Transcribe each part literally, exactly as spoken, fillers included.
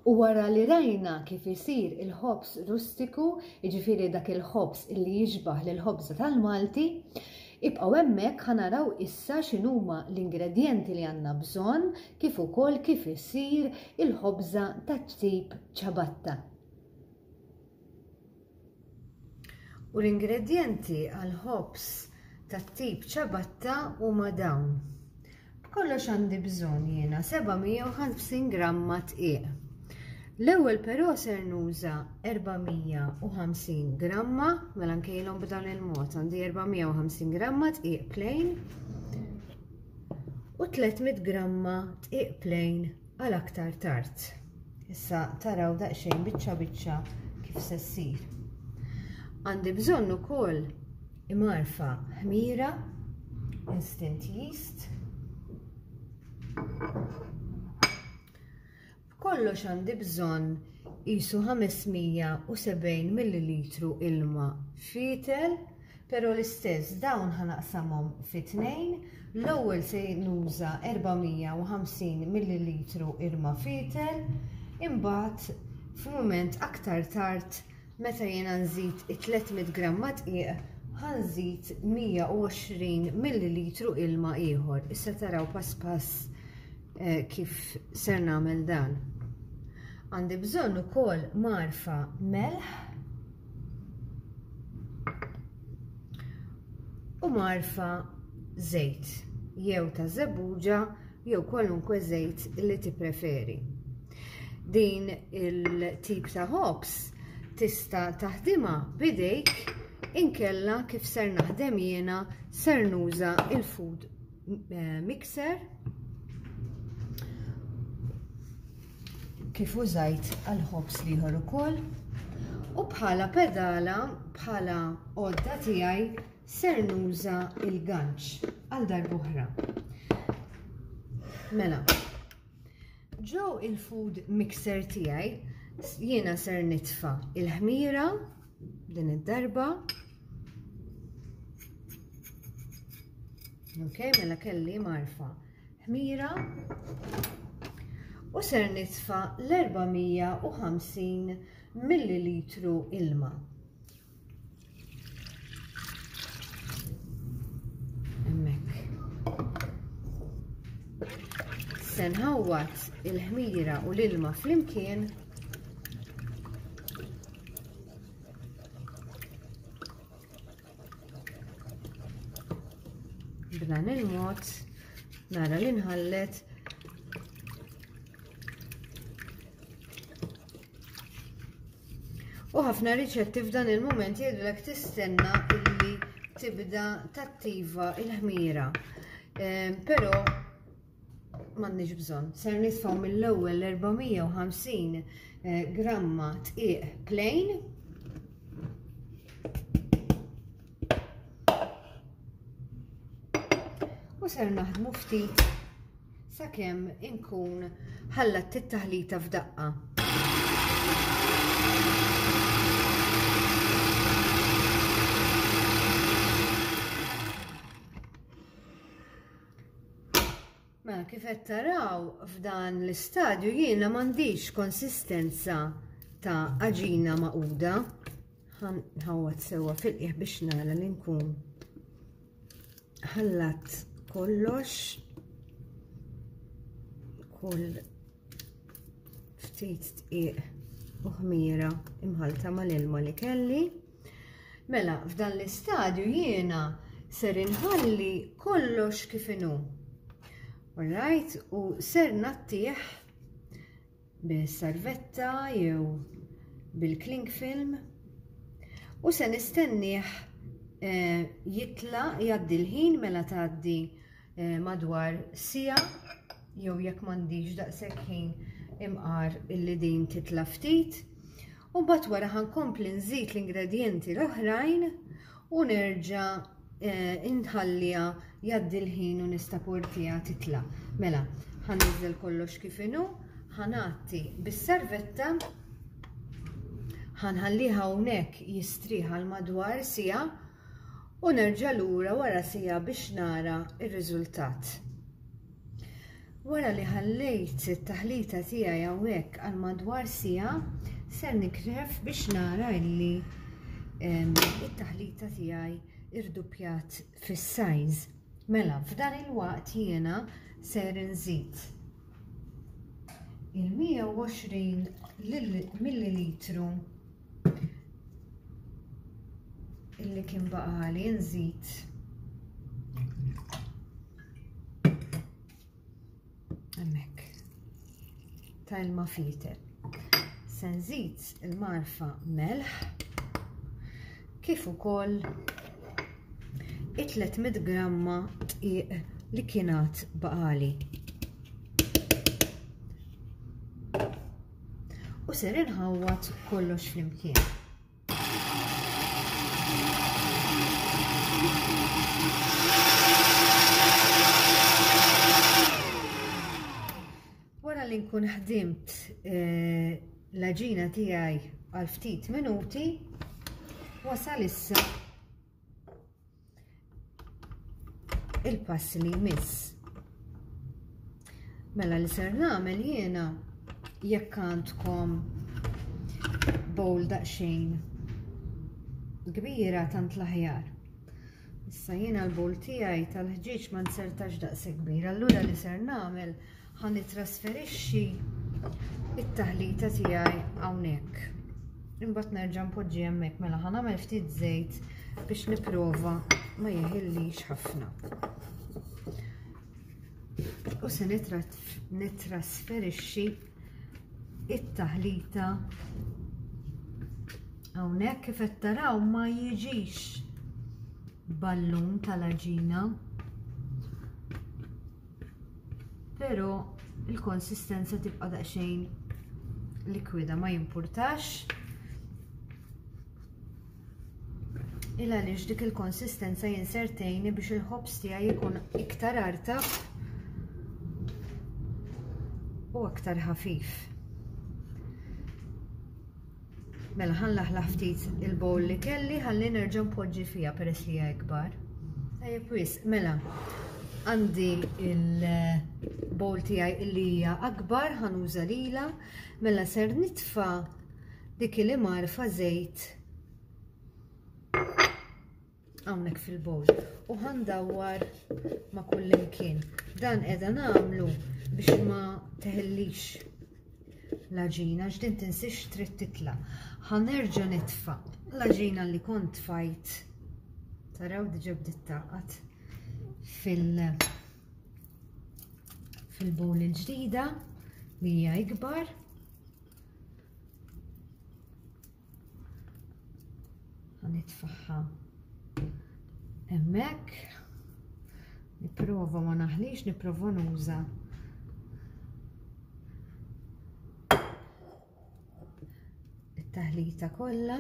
U wara li rajna kif isir il-ħobż rustiku, jiġifieri dak il-ħobż illi jixbah lill-ħobża tal-Malti, ibqgħu hemmhekk ħa naraw issa x'inhuma l-ingredjenti li għandna bżonn kif ukoll kif isir il-ħobża tat-tip ciabatta. U l-ingredjenti għal-ħobż tat-tip ciabatta huma dawn. B'kollox għandi bżonn jiena seba' mija u ħamsin gramma dqiq. L-ewwel però ser nuża erba' mija u ħamsin gramma, mela nkejlhom b'dan il-mod, għandi erba' mija u ħamsin gramma dqiq plain u tliet mitt gramma dqiq plain għal aktar tard. Issa taraw daqsxejn biċċa biċċa kif se ssir. Għandi bżonn ukoll imgħarfa ħmira, instant yeast. Kollox għandi bżonn qisu ħames mija u sebgħin millilitru ilma fitel, però l-istess dawn ħanaqsamhom fi tnejn. L-ewwel se nuża erba' mija u ħamsin millilitru ilma fitel, imbagħad f'mument aktar tard meta jiena nżid it-tliet mitt gramma dqiq ħanżid mija u għoxrin millilitru ilma ieħor. Issa taraw pass pass, eh, kif ser nagħmel dan. Għandi bżonn ukoll marfa melħ u marfa żejt, jew ta' żebbuġa jew kwalunkwe żejt li tippreferi. Din il-tip ta' ħobż tista' taħdimha b'idejk, inkella kif ser naħdem jiena ser nuża il-food, eh, mixer kif użajt għal-ħobż l-ieħor ukoll. U bħala pedala, bħala għodda tiegħi ser nuża il-ganċ għal darb'oħra. Mela, ġew il-food mixer tiegħi jiena ser nitfa' il-ħmira din id-darba. Ok, mela kelli marfa ħmira u ser nitfa' l-erba' mija u ħamsin millilitru ilma. Hemmhekk. Se nħawwad il-ħmira u l-ilma flimkien. B'dan il-mod nara li nħallet. U ħafna riċetti f'dan il-mument jgħidulek tistenna illi tibda tattiva il-ħmira. Ehm, però m'għandniex bżonn. Ser nitfgħu mill-ewwel l-erba' mija u ħamsin, eh, gramma dqiq plain. U ser naħdmu ftit sakemm inkun ħallat it-taħlita f'daqqa. Mela, kif qed taraw f'dan l-istadju jiena m'għandix konsistenza ta' għaġina maquda. Ħanħawwad sewwa fil-qiegħ biex nara li nkun ħallat kollox. Kull ftit dqiq u ħmira imħalta mal-ilma li kelli. Mela, f'dan l-istadju jiena ser inħalli kollox kif inhu. Alright, u ser nattih bil-sarvetta jew bil-cling film u se nistennieh, eh, jitla jgħaddi l-ħin mela tgħaddi, eh, madwar siegħa jew jekk m'għandix daqshekk ħin imqar illi din titla ftit. U mbagħad wara ħankompli nżid l-ingredjenti l-oħrajn u nerġa', eh, inħalliha jgħaddi l-ħin u nistaportiha titla. Mela, ħaniżel kollox kif inhu, ħanatti bis-servetta, ħanħalliha hawnhekk jistrieħ għal madwar siegħa u nerġa' lura wara siegħa biex nara r-riżultat. Wara li ħallejt it-taħlita tiegħi hawnhekk għal madwar siegħa, ser nikref biex nara illi it-taħlita tiegħi irduppjat fis-size. Mela, f'dan il-waqt jiena ser nżid il-mija u għoxrin millilitru illi kien baqali nżid hemmhekk ta' ilma fitel. Se nżid il-marfa melħ kif ukoll it-tliet mitt gramma dqiq li kienet baqali. U ser inħawwad kollox flimkien. Wara li nkun ħdimt, eh, l-għaġina tiegħi għal ftit minuti, wasal issa il-pass li jmiss. Mela li ser nagħmel jiena, jekk għandkom bowl daqsxejn kbira tant l-aħjar. Issa jiena l-bowl tiegħi tal-ħġieġ ma nsertax daqshekk kbir, allura li ser nagħmel ħa nitrasferixxi it-taħlita tiegħi hawnhekk. Imbagħad nerġa' npoġġi hemmhekk, mela ħa nagħmel ftit żejt biex nipprova ma jeħillix ħafna. U se nitrasferixxi it-taħlita hawnhekk. Kif qed taraw ma jiġix ballun tal-għaġina, però il-konsistenza tibqa' daqsxejn likwida, ma jimpurtax. Il għaliex dik il-konsistenza jinsertejni biex il-ħobż tiegħi jkun iktar artab u aktar ħafif. Mela ħanlaħlaħ ftit il-bowl li kelli ħalli nerġa' npoġġi fiha peress li hija ikbar. Tajjeb wisq, mela għandi il-bowl tiegħi li hija akbar, ħanuża lilha, mela ser nitfa' dik li marfa żejt hawnhekk fil-bowl u ħandawwar ma' kull imkien. Dan qiegħda nagħmlu biex ma teħillix l-għaġina, għax din tinsiex trid titla'. Ħanerġa' nitfa' l-għaġina li kont tfajt. Taraw diġà bdiet taqgħad fil-, fil-bowl il-ġdida li hija ikbar. Nitfaħħa hemmhekk. Nipprova ma naħlix, nipprova nuża it-taħlita kollha.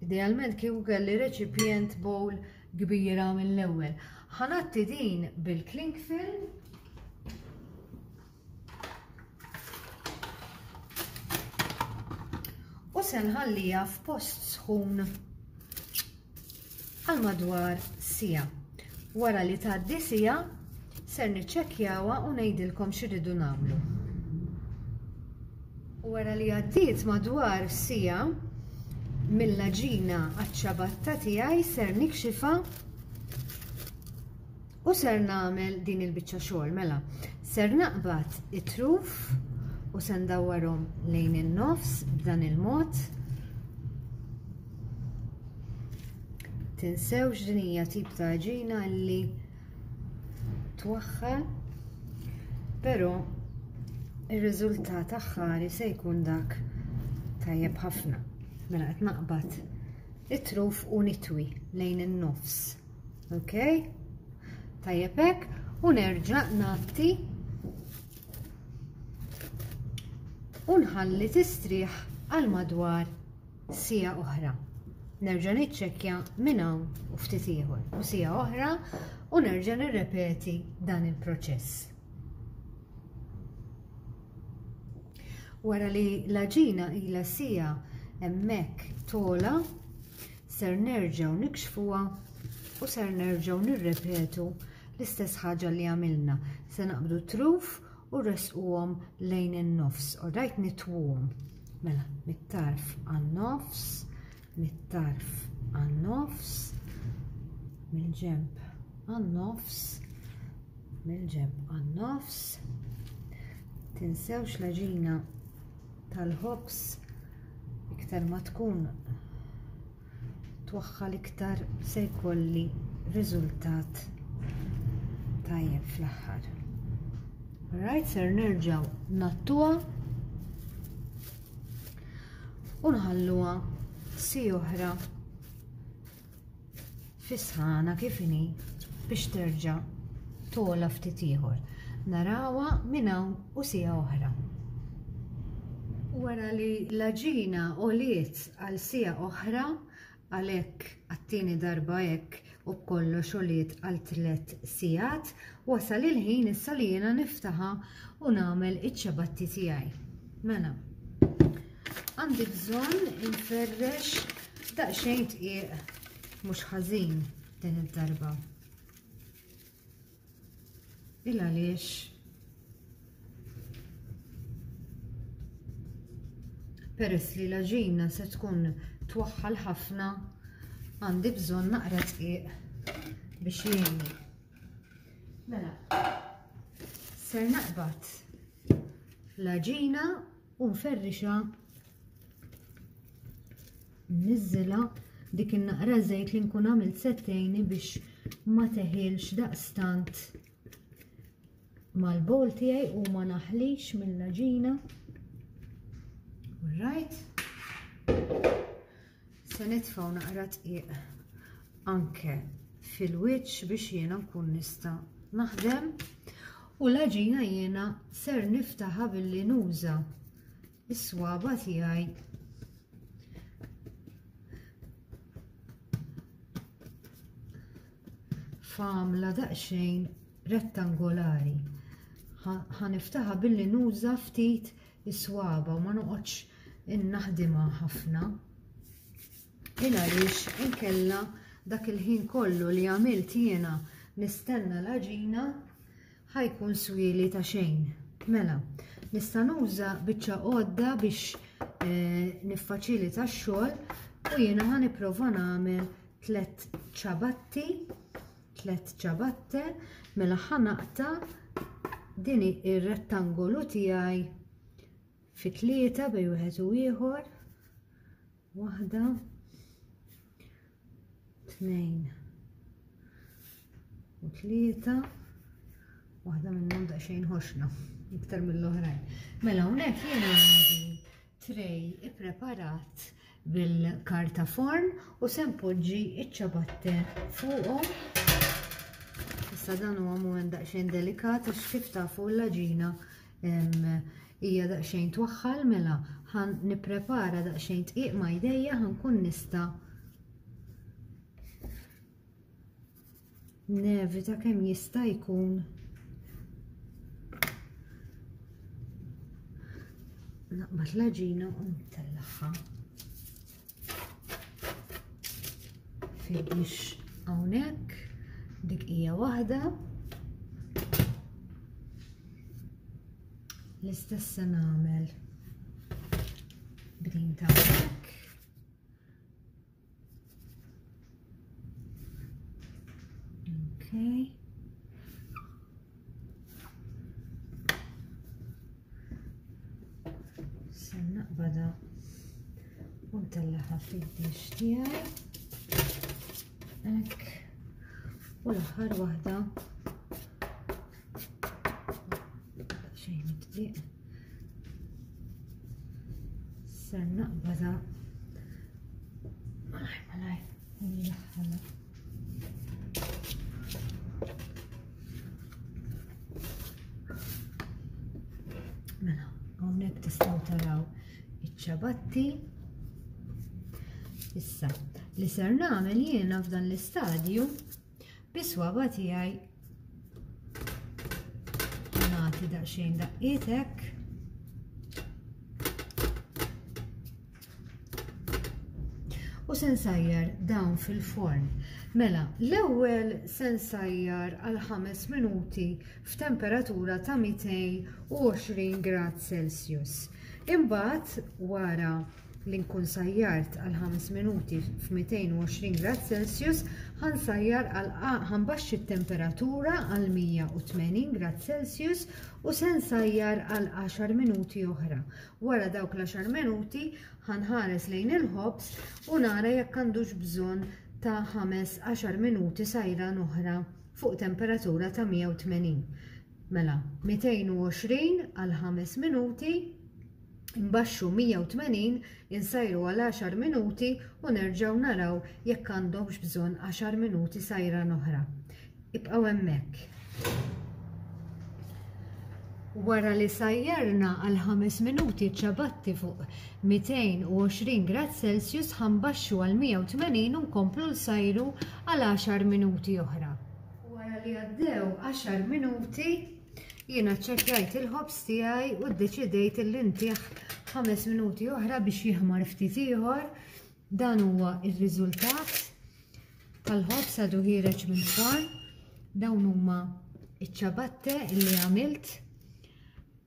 Idealment kieku kelli reċipjent bowl kbira mill-ewwel. Ħanatti din bil-cling film. U se nħallija f'post sħun għal madwar siegħa. Wara li tgħaddi siegħa ser niċċekkjawha u ngħidilkom x'irridu nagħmlu. U wara li għaddiet madwar siegħa mill-għaġina għaċ-ċabatta tiegħi ser nikxifha u ser nagħmel din il-biċċa xogħol. Mela, ser naqbad it-truf u se ndawwarhom lejn in-nofs b'dan il-mod. Tinsewx din hija tip ta' għaġina li twaħħal, però ir-riżultat aħħari se jkun dak tajjeb ħafna. Mela qed naqbad it-truf u nitwi lejn in-nofs. Ok? Tajjeb hekk, u nerġa' ngħatti u nħalli tistrieħ għal madwar siegħa oħra. Nerġa' niċċekkja minn hawn u ftit ieħor u siegħa oħra u nerġa' nirrepeti dan il-proċess. Wara li l-għaġina ilha siegħa hemmhekk tola, ser nerġgħu nikxfuha u ser nerġgħu nirrepetu l-istess ħaġa li għamilna. Se naqbdu truf u resquhom lejn in-nofs. Alright, nitwuhom. Mela, mit-tarf għan-nofs, mit-tarf għan-nofs, mill-ġenb għan-nofs, mill-ġenb għan-nofs. Tinsewx l-għaġina tal-ħobż iktar ma tkun twaħħal iktar se jkolli riżultat tajjeb fl-aħħar. Alright, ser nerġgħu nattuha u nħalluha si oħra fisħana kif inhi biex terġa' tola ftit ieħor. Narawha minn hawn u siegħa oħra. Wara li l-għaġina għoliet għal siegħa oħra, għalhekk għat-tieni darba hekk u b'kollox għoliet għal tliet sigħat, wasal il-ħin issa li jiena niftaħha u nagħmel iċ-ċabatti tiegħi. Mela, għandi bżonn inferrex daqsxejn dqiq mhux ħażin din id-darba. Il għaliex peress li l-għaġina se tkun twaħħal ħafna, għandi bżonn naqra dqiq biex jgħinni. Mela, ser naqbad l-għaġina u nferrixha, nniżżilha dik in-naqra żejt li nkun għamilt settejni biex ma teħilx daqstant mal-bowl tiegħi u ma naħlix mill-għaġina. Alright. Se nitfgħu naqra dqiq anke fil-wiċċ biex jiena nkun nista' naħdem, u l-għaġina jiena ser niftaħha billi nuża is-swaba tiegħi f'għamla daqsxejn rettangolari. Ħa niftaħha billi nuża ftit is-swaba u ma noqgħodx innaħdimha ħafna. Il għaliex inkella dak il-ħin kollu li għamilt jiena nistenna l-għaġina ħajkun swieli ta' xejn. Mela, nista' nuża biċċa għodda biex eh, niffaċilita x-xogħol u jiena ħa nipprova nagħmel tliet ċabatti, tliet ċabatte, mela ħa naqta' din ir-rettangolu tiegħi fi tlieta bejn wieħed u ieħor. Waħda, tnejn u tlieta. Waħda minnhom daqsxejn ħoxna iktar mill-oħrajn. Mela hawnhekk jiena għandi tray ippreparat bil-karta forn u se npoġġi iċ-ċabatte fuqhom. Issa dan huwa mument daqsxejn delikat għax kif tafu l-għaġina hija daqsxejn twaħħal, mela ħan nipprepara daqsxejn dqiq ma' jdejja ħa nkun nista' nevita kemm jista' jkun naqbad l-għaġina u ntellagħha fil-biex hawnhekk. Dik hija waħda. L-istess se nagħmel b'din ta' hawnhekk. Okay. Se naqbadha u ntellagħha fid-dix tiegħi. Hekk. U l-aħħar waħda xejn dqiq. Ser naqbadha malaj malaj u nlaħħalha. Mela, hawnhekk tistgħu taraw iċ-ċabatti. Issa, li ser nagħmel jiena f'dan l-istadju bis-swaba tiegħi nagħti daqsxejn daqqiet. U se nsajjar dawn fil-forn. Mela, l-ewwel se nsajjar għal ħames minuti f'temperatura ta' mitejn u għoxrin grad Celsius. Imbagħad wara li nkun sajjart għal ħames minuti f'mitejn u għoxrin grad Celsius, ħansajjar għal ħanbaxxi t-temperatura għal mija u tmenin grad Celsius u se nsajjar għal għaxar minuti oħra. Wara dawk l-għaxar minuti ħanħares lejn il-ħobż u nara jekk għandux bżonn ta' ħames għaxar minuti sajran oħra fuq temperatura ta' mija u tmenin. Mela, mitejn u għoxrin għal ħames minuti, imbaxxu mija u tmenin, insajru għal għaxar minuti u nerġgħu naraw jekk għandhomx bżonn għaxar minuti sajran oħra. Ibqgħu hemmhekk. Wara li sajjarna għal ħames minuti ċabatti fuq mitejn u għoxrin grad Celsius, ħanbaxxu għal mija u tmenin u nkomplu nsajru għal għaxar minuti oħra. Wara li għaddew għaxar minuti, jiena ċċekkjajt il-ħobż tiegħi u ddeċidejt li ntih ħames minuti oħra biex jiħmar ftit ieħor. Dan huwa r-riżultat tal-ħobż għadu ħiereġ mill-forn. Dawn huma iċ-ċabatte li għamilt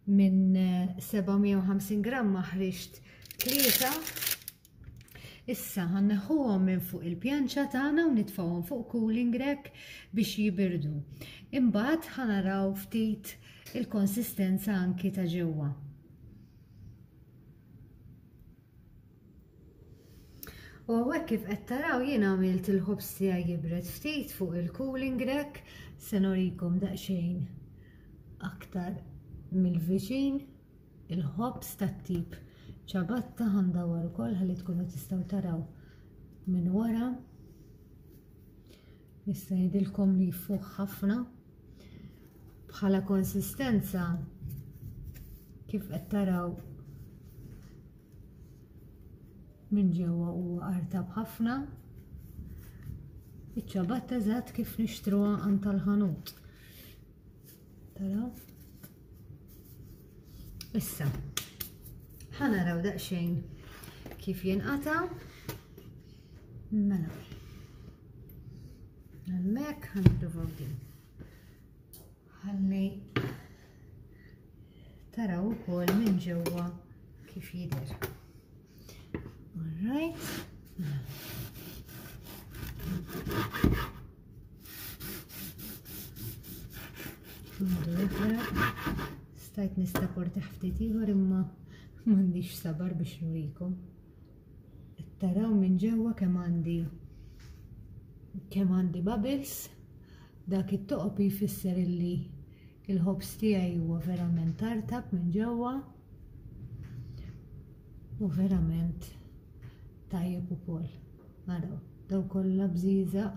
minn seba' mija u ħamsin gramma ħriġt tlieta. Issa ħanneħħuhom minn fuq il-pjanċa tagħna u nitfgħuhom fuq cooling rack biex jibirdu. Imbagħad ħanaraw ftit il-konsistenza anki ta' ġewwa. U hawnhekk kif qed taraw jien għamilt il-ħobż tiegħi jibred ftit fuq il-cooling rack, se norikom daqsxejn aktar mill-viċin il-ħobż tat-tip ċabatta. Ħandawar ukoll ħalli tkunu tistgħu taraw minn wara. Nista' ngħidilkom li jfuħ ħafna. Bħala konsistenza kif qed taraw minn ġewwa huwa artab ħafna. Iċ-ċabatta eżatt kif nixtruha għand tal-ħanut. Taraw? Issa ħanaraw daqsxejn kif jinqata'. Mela. Hemmhekk ħanippruvaw din. Ħalli taraw ukoll minn ġewwa kif jidher. All right. Stajt nistaporti ftit ieħor imma m'għandix sabar biex nurikom. Taraw minn ġewwa kemm għandi kemm għandi bubbles. Dak it-toqob jfisser illi il-ħobż tiegħi huwa verament tartab minn ġewwa u verament tajjeb ukoll. Araw, daw kollha bżieżaq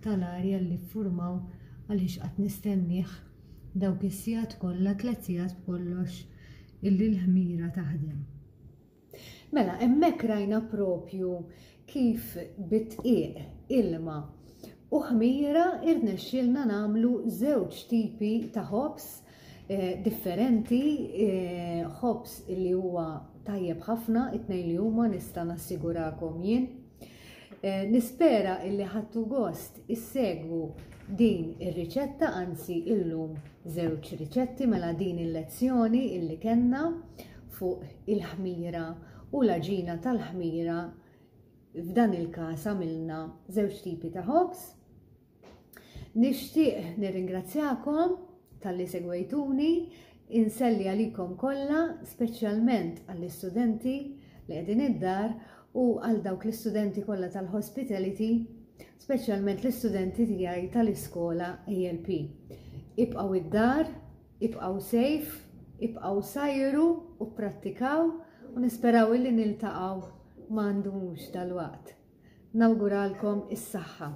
tal-arja li ffurmaw għaliex qatt nistennieh dawk is-sigħat kollha, tliet sigħat b'kollox illi l-ħmira taħdem. Mela, hemmhekk rajna propju kif bit-tqiq, ilma u ħmira irnexxielna nagħmlu żewġ tipi ta' ħobż, eh, differenti, eh, ħobż li huwa tajjeb ħafna, it-tnejn li huma nista' nassigurakom jien. Eh, nispera illi ħadtu gost issegwu din ir-riċetta, anzi illum żewġ riċetti, mela din il-lezzjoni illi kellna fuq il-ħmira u l-għaġina tal-ħmira. F'dan il-każ għamilna żewġ tipi ta' ħobż. Nixtieq nirringrazzjakom talli segwejtuni, inselli għalikom kollha, speċjalment għall-istudenti li qegħdin id-dar u għal dawk l-istudenti kollha tal-hospitality, speċjalment l-istudenti tiegħi tal-iskola A L P. Ibqgħu id-dar, ibqgħu safe, ibqgħu sajru u pprattikaw u nisperaw illi niltaqgħu ma ndumux dal-waqt. Nawguralkom is-saħħa.